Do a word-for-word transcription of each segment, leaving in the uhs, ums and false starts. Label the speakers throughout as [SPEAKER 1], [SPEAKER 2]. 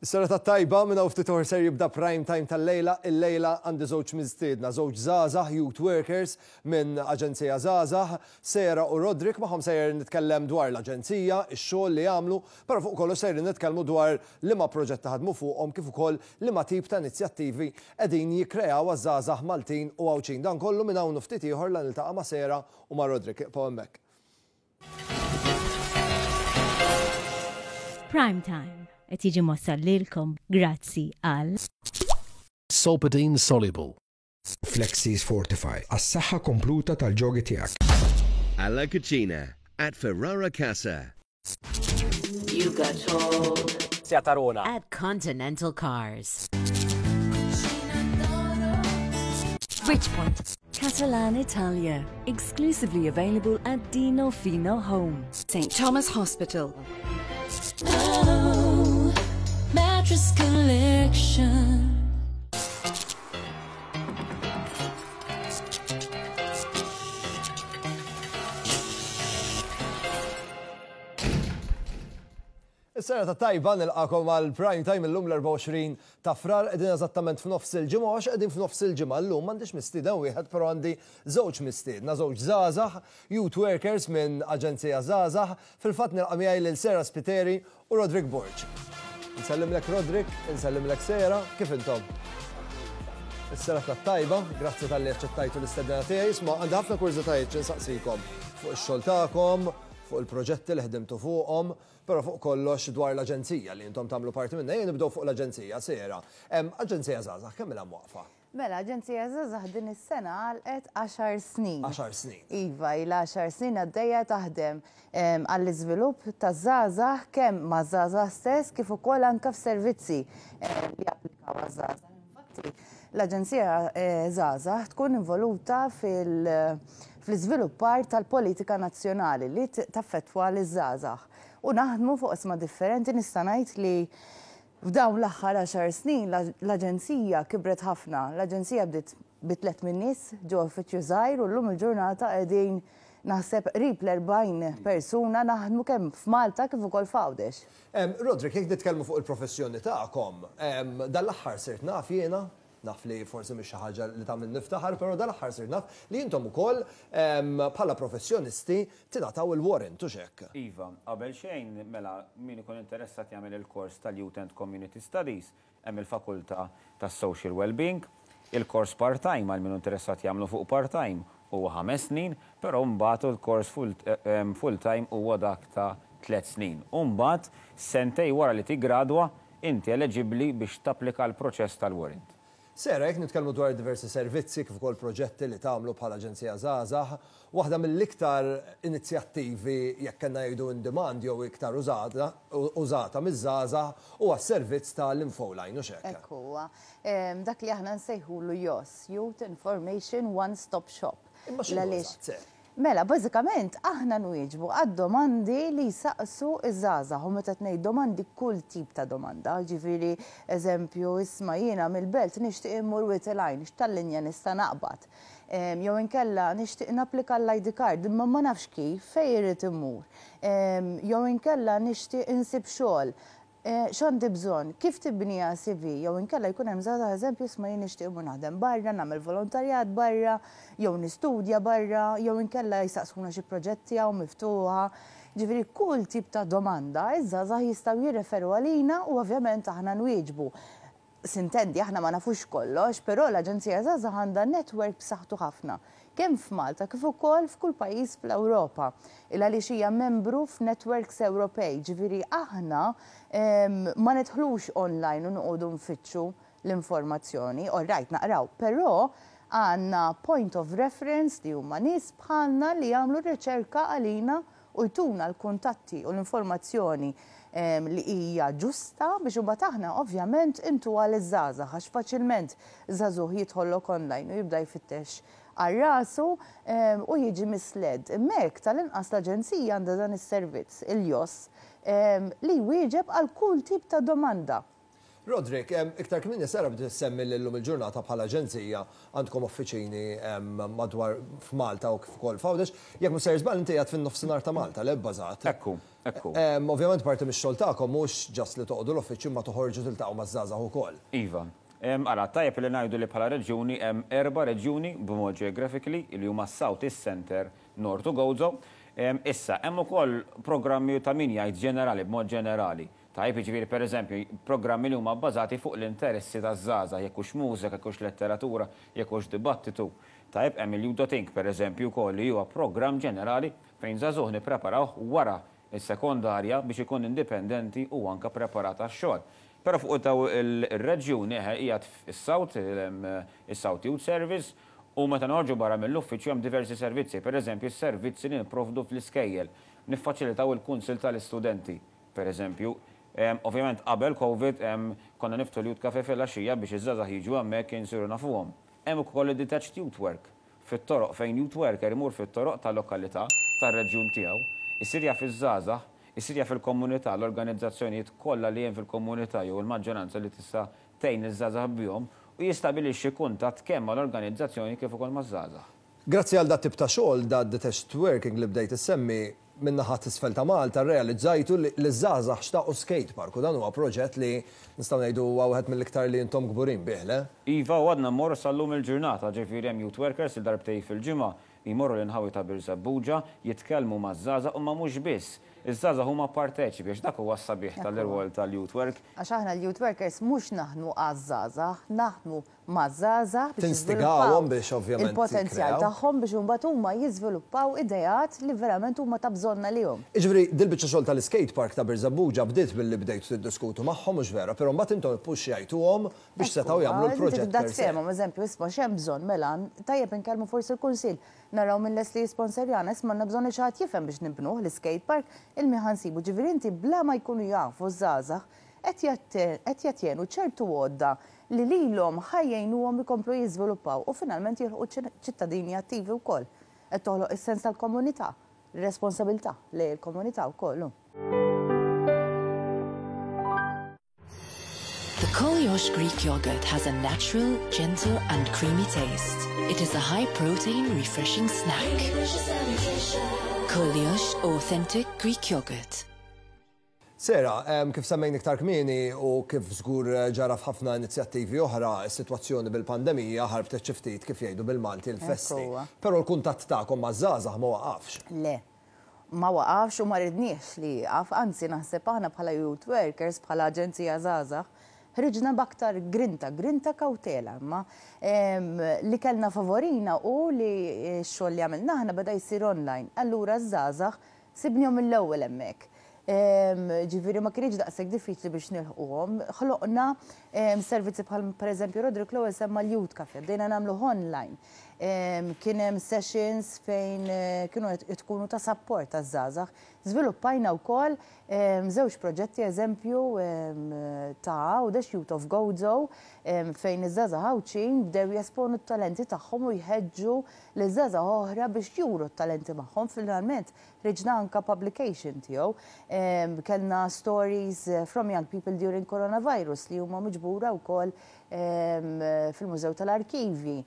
[SPEAKER 1] Is-serata tajba. Minn hawn ftit ser jibda Prime Time tal-lejla. Il-lejla għandi żewġ mistiedna, żewġ żgħażagħ, youth workers minn Aġenzija Żgħażagħ, Sera u Roderick. Magħhom sejjer nitkellem dwar l-aġenzija, ix-xogħol li jagħmlu, però fuq kollox sejjer nitkellmu dwar liema proġetti ħadmu fuqhom kif ukoll liema tip ta' inizjattivi qegħdin jikkreaw għaż-żgħażagħ Maltin u Għawdxin. Dan kollu minn hawn ftit ieħor la niltaqa' ma' Sera u ma' Roderick. Ibqgħu hemmhekk.
[SPEAKER 2] Prime Time qed jiġi mwassal lilkom grazzi għal
[SPEAKER 3] Solpadeine Soluble.
[SPEAKER 4] Flexis Fortify, għas-saħħa kompluta tal-ġogi tiegħek.
[SPEAKER 5] Alla Cucina at Ferrara Casa.
[SPEAKER 6] You got told.
[SPEAKER 7] Seat Arona.
[SPEAKER 6] At Continental Cars.
[SPEAKER 8] Bridgepoint. Catalan Italia. Exclusively available at Dino Fino Home.
[SPEAKER 9] Saint Thomas Hospital.
[SPEAKER 10] Oh, mattress collection.
[SPEAKER 1] Is-serata tajba, nilqagħkom għal Prime Time illum l-erbgħa u għoxrin ta' Frar. Qegħdin eżattament f'nofs il-ġimgħa, għax qegħdin f'nofs il-ġimgħa llum m'għandix mistieden wieħed, però għandi żewġ mistiedna, żewġ żgħażagħ, youth workers minn Aġenzija Żgħażagħ. Fil-fatt nilqa' miegħi lil Sera Spiteri u Roderick Borg. Nsellimlek, Roderick, nsellimlek, Sera, kif intom? Is-serata tajba, grazzi talli aċċettajtu l-istedina tiegħi. Isma', għandi ħafna kurżitajiet x'insaqsikom fuq ix-xogħol tagħkom, fuq il-proġetti li ħdimtu fuqhom, però fuq kollox dwar l-aġenzija li intom tagħmlu parti minnha. Jien nibdew fuq l-aġenzija, Sera. Aġenzija Żgħażagħ kemm ilha mwaqfa?
[SPEAKER 11] Mela, Aġenzija Żgħażagħ din is-sena għalqet għaxar snin.
[SPEAKER 1] għaxar snin.
[SPEAKER 11] Iva, ilha għaxar snin għaddejja taħdem għall-iżvilupp ta' żgħażagħ, kemm ma' żgħażagħ stess kif ukoll anke f'servizzi li applikaw għaż-żgħażagħ. Infatti, l-Aġenzija eh, Żgħażagħ tkun involuta fil- fl-iżviluppar tal-politika nazzjonali li taffettwa l-żgħażagħ. U naħdmu fuq oqsma differenti. Nista' ngħid li f'dawn l-aħħar għaxar snin l-aġenzija kibret ħafna. L-aġenzija bdiet bi tliet min-nies ġo uffiċċju żgħir u llum il-ġurnata qegħdin, naħseb, qrib l-erbgħin persuna naħdmu kemm f'Malta kif ukoll f'Għawdex.
[SPEAKER 1] Roderick, jekk nitkellmu fuq il-professjoni tagħkom, dal-aħħar sirt naf jiena, naf li forsi mhix xi ħaġa li tagħmel niftaħar, però dal-aħħar sirt naf li intom ukoll bħala professjonisti tingħataw il-warrant, u hekk?
[SPEAKER 7] Iva, qabel xejn, mela, min ikun interessat jagħmel il-kors tal-Youth and Community Studies, hemm il-Fakultà tas-Social Wellbeing. Il-kors part-time, għal min interessat jagħmlu fuq part-time, huwa ħames snin, però mbagħad il-kors full-time huwa dak ta' tliet snin. U mbagħad sentejn wara li tiggradwa inti eligibbli biex tapplika l-proċess tal-warrant.
[SPEAKER 1] Sera, jekk nitkellmu dwar diversi servizzi kif ukoll proġetti li tagħmlu bħala Aġenzija Żgħażagħ, waħda mill-iktar inizjattivi, jekk kellna jgħidu in demand jew iktar użata użata miż-żgħażagħ, huwa s-servizz tal-Infoline, u hekk?
[SPEAKER 11] Hekk huwa. Dak li aħna nsejħulu YOS, Youth Information One Stop Shop.
[SPEAKER 1] Imma x'inhu eżatt?
[SPEAKER 11] Mela, bażikament aħna nwieġbu għad-domandi li jsaqsu iż-żgħażagħ, u meta tgħid domandi, kull tip ta' domanda, ġifieri eżempju, isma', jiena mill-Belt nixtieq immur Wied il-Għajn, x'tal-linja nista' naqbad? Jew inkella nixtieq napplika l-I D card imma ma nafx kif, fejn irid immur? Jew inkella nixtieq insib xogħol. X'għandi bżonn, kif tibnija C V, jew inkella jkun hemm żgħażagħ, eżempju, isma', jien nixtieq immur naħdem barra, nagħmel volontarjat barra, jew nistudja barra, jew inkella jistaqsuna xi proġetti hawn miftuħa. Ġifieri kull tip ta' domanda iż-żgħażagħ jistgħu jirreferu għalina u ovvjament aħna nwieġbu. S'intendi, aħna ma nafux kollox, però l-Aġenzija Żgħażagħ għandha network b'saħħtu ħafna kemm f'Malta kif ukoll f'kull pajjiż fl-Ewropa. Il għaliex hija membru f'networks Ewropej, ġifieri aħna ma nidħlux online u noqogħdu nfittxu l-informazzjoni, all right, naqraw, però għandna point of reference li huma nies bħalna li jagħmlu riċerka għalina u jtuna l-kuntatti u l-informazzjoni li hija ġusta biex imbagħad aħna ovvjament intuha liż-żgħażagħ, għax faċilment żagħżugħ jidħollok online u jibda jfittex għal rasu u jiġi misled. Hemmhekk tal-inqas l-aġenzija għandha dan is-servizz, il-YOS, li jwieġeb għal kull tip ta' domanda.
[SPEAKER 1] Roderick, iktar kmieni Sara bdiet semmi l-lum il-ġurnata bħala aġenzija għandkom uffiċini madwar f'Malta u kif ukoll f'Għawdex. Jekk mhux sejjer żball, inti qiegħed fin-nofsinhar ta' Malta, le, bbażat?
[SPEAKER 7] Ekku, ekku.
[SPEAKER 1] Ovvjament parti mix-xogħol tagħkom mhux just li toqgħodu l-uffiċċju, ma toħorġu tiltaqgħu maż-żgħażagħ ukoll.
[SPEAKER 7] Iva. Ara, tajjeb li ngħidu li bħala reġjuni hemm erba' reġjuni b'mod geographically, li huma South, East, Center, North u Gozo. Issa, hemm ukoll programmi ta' min jgħid ġenerali, b'mod ġenerali. Tajjeb, jiġifieri pereżempju, programmi li huma bbażati fuq l-interessi taż-żgħażagħ, jekk hux mużika, jekk hux letteratura, jekk hux dibattitu. Tajjeb, hemm il-Youth dot Inc pereżempju wkoll, li huwa programm ġenerali fejn żagħżugħ nippreparawh wara is-sekondarja biex ikun indipendenti u anka preparat għax-xogħol. Però fuq daw il-reġjuni qiegħed is-South, is-South Youth Service, u meta noħorġu barra mill-uffiċċju hemm diversi servizzi, pereżempju s-servizzi li nipprovdu fl-iskejjel, niffaċilitaw il-kunsil tal-istudenti, pereżempju. Ovvjament qabel Covid konna niftħu l-Youth Cafe fil-għaxija biex iż-żgħażagħ jiġu hemmhekk, insiru nafuhom. Hemm ukoll id-detached youth work fit-toroq, fejn youth worker imur fit-toroq tal-lokalità tar-reġjun tiegħu, isir jaf iż-żgħażagħ, isir jaf il-komunità, l-organizzazzjonijiet kollha li hemm fil-komunità jew il-maġġoranza li tista' tgħin iż-żgħażagħ bihom, u jistabilixxi kuntatt kemm mal-organizzazzjoni kif ukoll maż-żgħażagħ.
[SPEAKER 1] Grazzi għal dat tip ta' xogħol, da detached working li bdejt issemmi, min-naħa t'isfel ta' Malta realizzajtu li l-żgħażagħ xtaqu skate park, u dan huwa proġett li nistgħu ngħidu huwa wieħed mill-iktar li intom kburin bih, le?
[SPEAKER 7] Iva, u għadna mmorru sal-lum il-ġurnata, ġifieri hemm youth workers il darbtej fil-ġimgħa jmorru l-inħawi ta' Birżebbuġa, jitkellmu maż-żgħażagħ, u ma mhux biss. Iż-żgħażagħ huma parteċipi, għax dak huwa s-sabiħ tal-irwol tal-youth work.
[SPEAKER 11] Għax aħna l-youth workers mhux naħdmu għaż-żgħażagħ, naħdmu maż-żgħażagħ biex
[SPEAKER 1] Tinstigawhom biex ovvjament
[SPEAKER 11] il-potenzjal
[SPEAKER 1] jikkreaw.
[SPEAKER 11] tagħhom, biex imbagħad huma jiżviluppaw ideat li verament huma ta' bżonna lihom.
[SPEAKER 1] Iġifieri, dil-biċċa xogħol tal-skate park ta' Birżebbuġa bdiet billi bdejtu tiddiskutu magħhom, mhux vera, però mbagħad intom ippuxxjajtuhom biex setgħu jagħmlu l-proġett
[SPEAKER 11] Tibda
[SPEAKER 1] per se.
[SPEAKER 11] tfehmhom, eżempju, isma' x'hemm bżonn, mela tajjeb inkellmu forsi l-kunsill, naraw minn les li jisponsorjana, isma' għandna bżonn xi ħadd jifhem biex nibnuh l-skate park, il-min ħa nsibu. Ġifieri inti bla ma jkunu jafu żgħażagħ qed jagħtjenu ċertu għodda li lilhom ħa jgħinuhom ikomplu jiżviluppaw u finalment jilħqu ċittadini attivi wkoll. Qed toħloq is-sens tal-komunità, responsabilità lejn il-komunità wkoll.
[SPEAKER 10] The Koliosh Greek yogurt has a natural, gentle and creamy taste. It is a high-protein, refreshing snack. Koliosh Authentic Greek Yogurt.
[SPEAKER 1] Sera, kif semmejn iktar kmieni u kif żgur ġara f'ħafna inizjattivi oħra, is-sitwazzjoni bil-pandemija ħarbtet xi ftit, kif jgħidu bil-Malti, l-festi.
[SPEAKER 11] Ekku.
[SPEAKER 1] Però l-kuntatt tagħkom maż-żgħażagħ ma waqafx.
[SPEAKER 11] Le, ma waqafx u ma ridniex li jaqaf, anzi naħseb aħna bħala youth workers, bħala aġenzija żgħażagħ, ħriġna b'aktar grinta, grinta kawtela, imma li kellna favorina u li x-xogħol li għamilna aħna beda jsir online. Allura ż-żgħażagħ sibnihom mill-ewwel hemmhekk. Ġifieri ma kienx daqshekk diffiċli biex nilħquhom. Ħloqna servizzi bħal pereżempju Roderick l-ewwel semma l-Youth Cafe, bdejna nagħmlu online. Kien hemm sessions fejn eh, kienu qed tkunu ta' support taż-żgħażagħ. Żviluppajna wkoll żewġ proġetti, eżempju ta' Għawdex, Youth of Gozo, fejn iż-żgħażagħ Għawdxin bdew jesponu t-talenti tagħhom u jħeġġu liż-żgħażagħ oħra biex juru t-talenti magħhom. Finalment ħriġna anka publication tiegħu. Kellna stories eh, from young people during coronavirus li huma miġbura wkoll fil-Mużew tal-Arkivi.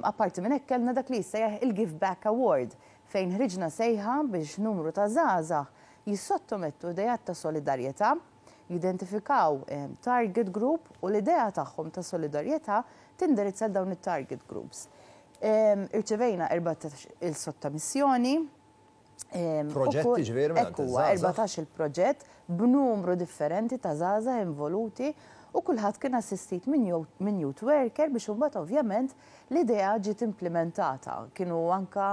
[SPEAKER 11] Apparti minn hekk kellna dak li jissejjaħ il-Give Back Award, fejn ħriġna sejħa biex numru ta' żgħażagħ jissottomettu ideat ta' solidarjetà, jidentifikaw target group u l-idea tagħhom ta' solidarjetà tindirizza dawn it-target groups. Irċevejna erbatax il-sottomissjoni.
[SPEAKER 1] Proġetti ġifieri minn
[SPEAKER 11] Ekku, erbatax il-proġett b'numru differenti ta' żgħażagħ involuti, u kulħadd kien assistit minn youth worker biex imbagħad ovvjament l-idea ġiet implementata. Kienu anka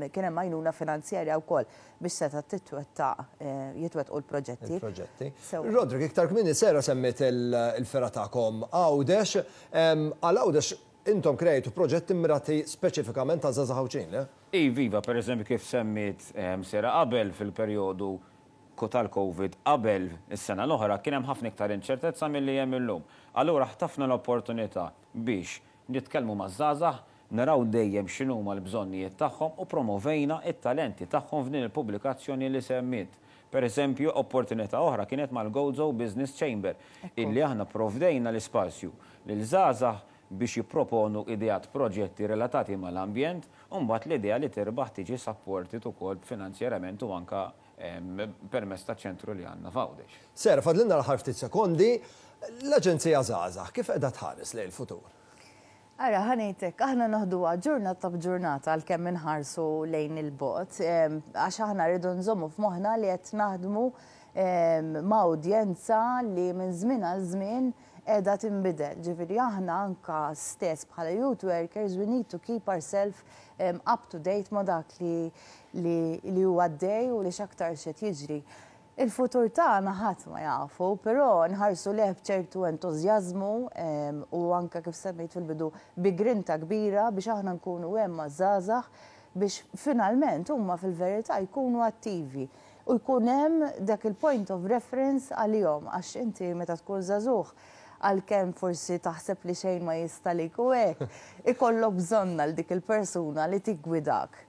[SPEAKER 11] kien hemm għajnuna finanzjarja wkoll biex seta' titwettaq jitwettqu l-proġetti.
[SPEAKER 1] Il-proġetti. Roderick, iktar kmieni Sera semmiet il-fergħa tagħkom Għawdex. Għal Għawdex intom krejtu proġetti mirati speċifikament ta' żgħażagħ Għawdxin, le?
[SPEAKER 7] Iva, per eżempju kif semmiet Sera qabel, fil-perjodu tal-Covid qabel is-sena l-oħra kien hemm ħafna iktar inċertezza milli hemm illum. Allura ħtafna l-opportunità biex nitkellmu maż-żgħażagħ, naraw dejjem x'inhuma l-bżonnijiet tagħhom u promovejna it-talenti tagħhom f'din il-pubblikazzjoni li semmiet. Per eżempju, opportunità oħra kienet mal-Gozo Business Chamber, illi aħna provdejna l-ispazju lil żgħażagħ biex jipproponu ideat, proġetti relatati mal-ambjent, u mbagħad l-idea li tirbaħ tiġi supported ukoll finanzjarament u anka permezz ta' ċentru li għandna f'Għawdex.
[SPEAKER 1] Sera, fadlilna l-aħħar ftit sekondi, l-Aġenzija Żgħażagħ kif qiegħda tħares lejn il-futur?
[SPEAKER 11] Ara, ħa ngħidlek, aħna noħduha ġurnata b'ġurnata għalkemm inħarsu lejn il-bogħod, għax aħna rridu nżommu f'moħħna li qed naħdmu ma' udjenza li minn żmien għal żmien qiegħda tinbidel. Ġifieri aħna anka stess bħala youth workers, we need to keep ourselves up to date ma' dak li li huwa għaddej u li x'aktar x'qed jiġri. Il-futur tagħna ħadd ma jafu, però nħarsu lejh b'ċertu entużjażmu u anka, kif semmejt fil-bidu, bi grinta kbira biex aħna nkunu hemm maż-żgħażagħ biex finalment huma fil-verità jkunu attivi u jkun hemm dak il-point of reference għalihom, għax inti meta tkun żagħżugħ, għalkemm forsi taħseb li xejn ma jista' u hekk, ikollok bżonn għal dik il-persuna li tiggwidak.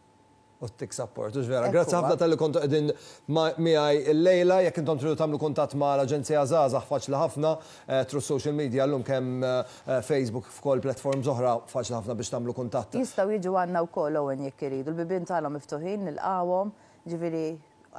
[SPEAKER 1] U ttik support, hux vera. Grazzi ħafna talli kontu qegħdin miegħi illejla. Jekk intom tridu tagħmlu kuntatt ma' l-Aġenzija Żgħażagħ, faċli ħafna eh, through social media llum, kemm eh, Facebook, f'kull platforms oħra, faċli ħafna biex tagħmlu kuntatt.
[SPEAKER 11] Jistgħu jiġu għandna wkoll, Owen, jekk iridu. Il-bibien tagħna miftuħin, nilqawhom, ġifieri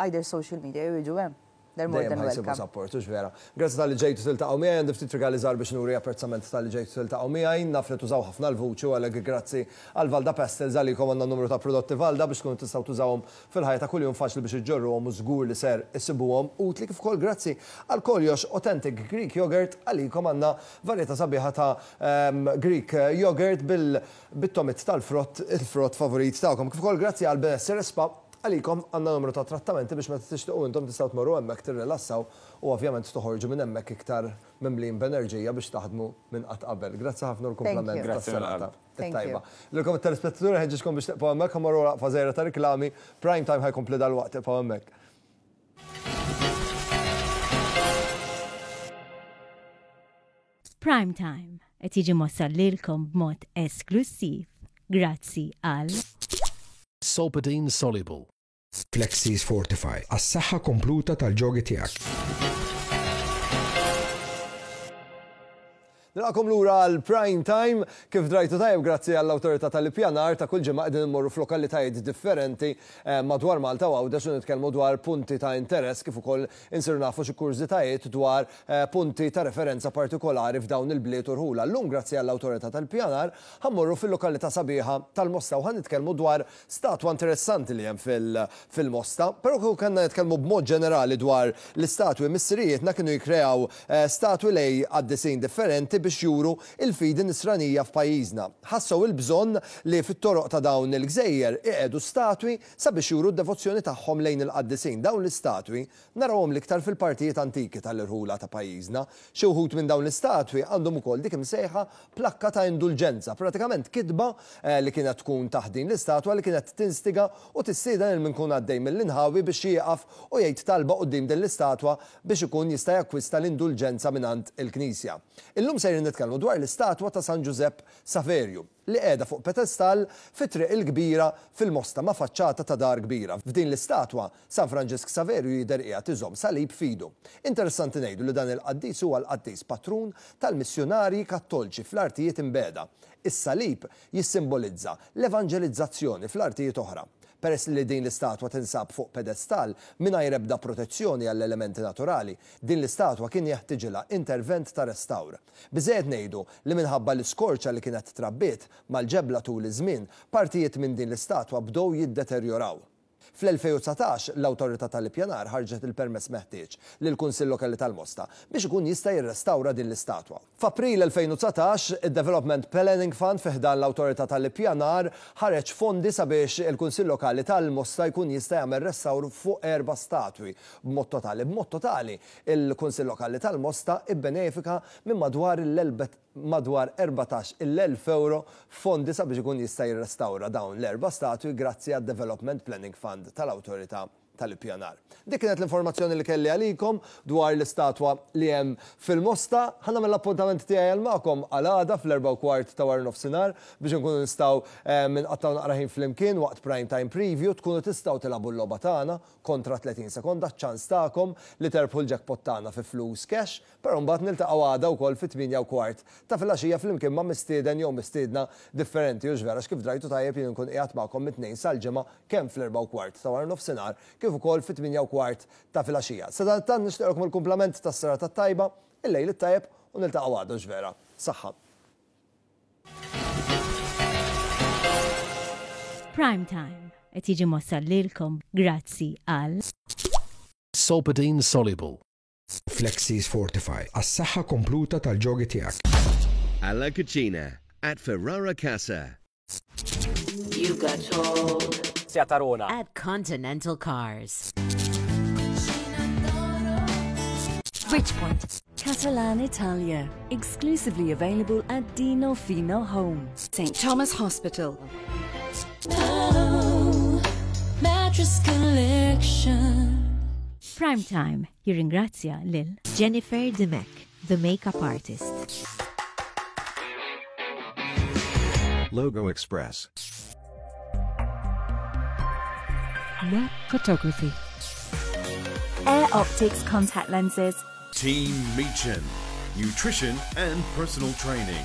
[SPEAKER 11] either social media jew jiġu hemm. They're more than welcome.
[SPEAKER 1] Support, hux vera. Grazzi talli ġejtu tiltaqgħu miegħi, għandi ftit rigali żgħar biex nuri apprezzament talli ġejtu tiltaqgħu miegħi, naf li tużaw ħafna l-vuċi u għalhekk grazzi għal Valda Pastels, għalikom għandna numru ta' prodotti Valda biex tkunu tistgħu tużawhom fil-ħajja ta' kuljum, faċli biex iġġorruhom u żgur li ser issibuhom utli, kif ukoll grazzi għal Koljox Authentic Greek Yogurt, għalikom għandna varjetà sabiħa ta' ehm, Greek yogurt bil-togħmiet tal-frott, il-frott favorit tagħkom. Kif ukoll grazzi għal Benessere Spa, għalikom għandna numru ta' trattamenti biex meta tixtiequ intom tistgħu tmorru hemmhekk, tirrilassaw u ovvjament toħorġu minn hemmhekk iktar mimlin b'enerġija biex taħdmu minn qatt qabel. Grazzi ħafna l-kumplament tas-serata. Tajba. Lilkom it-telespettaturi nħeġġiġkom biex tibqgħu hemmhekk, ħa mmorru waqfa żgħira ta' riklami, Prime Time ħa jkompli dalwaqt, tibqgħu hemmhekk.
[SPEAKER 2] Prime Time qed jiġi mwassal lilkom b'mod esklusiv grazzi għal
[SPEAKER 3] Solpadeine Soluble.
[SPEAKER 4] Flexis Fortify għas-saħħa kompluta tal-ġogi tiegħek.
[SPEAKER 1] Nilqagħkom lura għal Prime Time. Kif drajtu tajjeb, grazzi għall-Awtorità tal-Ippjanar, ta' kull ġimgħa qegħdin immorru f'lokalitajiet differenti eh, madwar Malta u Għawdex u nitkellmu dwar punti ta' interess kif ukoll insiru nafu xi kurżitajiet dwar eh, punti ta' referenza partikolari f'dawn il-bliet u rħula. Llum, grazzi għall-Awtorità tal-Ippjanar, ħa mmorru fil-lokalità sabiħa tal-Mosta u ħa nitkellmu dwar statwa interessanti li hemm fil-Mosta. Però kieku kellna nitkellmu b'mod ġenerali dwar l-istatwi, missirijietna kienu jikreaw eh, statwi lejn qaddisin differenti biex juru il-fidi nisranija f'pajjiżna. Ħassew il-bżonn li fit-toroq ta' dawn il-gżejjer iqiegħdu statwi sabiex juru d-devozzjoni tagħhom lejn il-qaddisin. Dawn l-istatwi narawhom l-iktar fil-partijiet antiki tal-irħula ta' pajjiżna. Xi wħud minn dawn l-istatwi għandhom ukoll dik imsejħa plakka ta' indulġenza, pratikament kitba eh, li kienet tkun taħt din l-istatwa li kienet tinstiga u tistieden lil min ikun għaddej mill-inħawi biex jieqaf u jgħid talba quddiem din l-istatwa biex ikun jista' jakkwista l-indulġenza mingħand il-Knisja. Illum sejrin nitkellmu dwar l-istatwa ta' San Ġużepp Saverju li qiegħda fuq pedestall fi Triq il-Kbira fil-Mosta ma' faċċata ta' dar kbira. F'din l-istatwa, San Franġisk Saverju jidher qiegħed iżomm salib f'idu. Interessanti ngħidu li dan il-qaddis huwa l-qaddis patrun tal-missjunarji Kattolċi fl-artijiet imbiegħda. Is-salib jissimbolizza l-evanġelizzazzjoni fl-artijiet oħra. Peress li din l-istatwa tinsab fuq pedestall mingħajr ebda protezzjoni għall-elementi naturali, din l-istatwa kien jeħtiġilha intervent ta' restawr. Biżejjed ngħidu li minħabba l-iskorċa li kienet trabbiet mal-ġebla tul iż-żmien, partijiet minn din l-istatwa bdew jiddeterjoraw. Fl-elfejn u dsatax l-Awtorità tal-Ippjanar ħarġet il-permess meħtieġ lill-Kunsill Lokali tal-Mosta biex ikun jista' jirrestawra din l-istatwa. F'April elfejn u dsatax, id-Development Planning Fund fi ħdan l-Awtorità tal-Ippjanar ħareġ fondi sabiex il-Kunsill Lokali tal-Mosta jkun jista' jagħmel restawr fuq erba' statwi b'mod totali. B'mod totali, il-Kunsill Lokali tal-Mosta ibbenefika minn madwar l-elbet madwar erbatax-il elf euro fondi sabiex ikun jista' jirrestawra dawn l-erba' statwi grazzi għad-Development Planning Fund tal-Awtorità. tal-Ippjanar. Dik kienet l-informazzjoni li kelli għalikom dwar l-istatwa li hemm fil-Mosta. Ħa nagħmel l-appuntament tiegħi għal magħkom għal għada fl-erbgħa u kwart ta' wara nofsinhar biex nkunu nistgħu eh, nqattgħu naqra ħin flimkien waqt prime time preview, tkunu tistgħu tilagħbu l-logħba tagħna kontra tletin sekonda, ċans tagħkom li terbħu l-jackpot tagħna fi flus cash, però mbagħad niltaqgħu għada wkoll fit-tmienja u kwart ta' filgħaxija flimkien ma' mistieden jew mistiedna differenti, u vera kif drajtu tajjeb, jien nkun qiegħed magħkom mit-Tnejn sal-Ġimgħa kemm fl-erbgħa u kwart ta' wara nofsinhar kif ukoll fit-tmienja u kwart ta' filgħaxija. Sadanittant nixtieqlkom il-kumplament tas-serata tajba, il-lejl it-tajjeb u niltaqgħu għada vera. Saħħa.
[SPEAKER 2] Prime Time qed jiġi mwassal lilkom grazzi għal
[SPEAKER 3] Solpadeine Soluble.
[SPEAKER 4] Flexis Fortify għas-saħħa kompluta tal-ġogi tiegħek.
[SPEAKER 5] Alla Cucina at Ferrara Casa.
[SPEAKER 6] You got told.
[SPEAKER 12] Tarona.
[SPEAKER 6] At Continental Cars.
[SPEAKER 8] Bridgepoint. Catalan Italia, exclusively available at Dino Fino Home.
[SPEAKER 9] Saint Thomas Hospital.
[SPEAKER 10] Oh, mattress collection.
[SPEAKER 2] Prime Time jirringrazzja lil
[SPEAKER 6] Jennifer Dimech, the makeup artist.
[SPEAKER 13] Logo Express.
[SPEAKER 10] Net Photography.
[SPEAKER 8] Air Optics contact lenses.
[SPEAKER 14] Team Meechan, nutrition and personal training.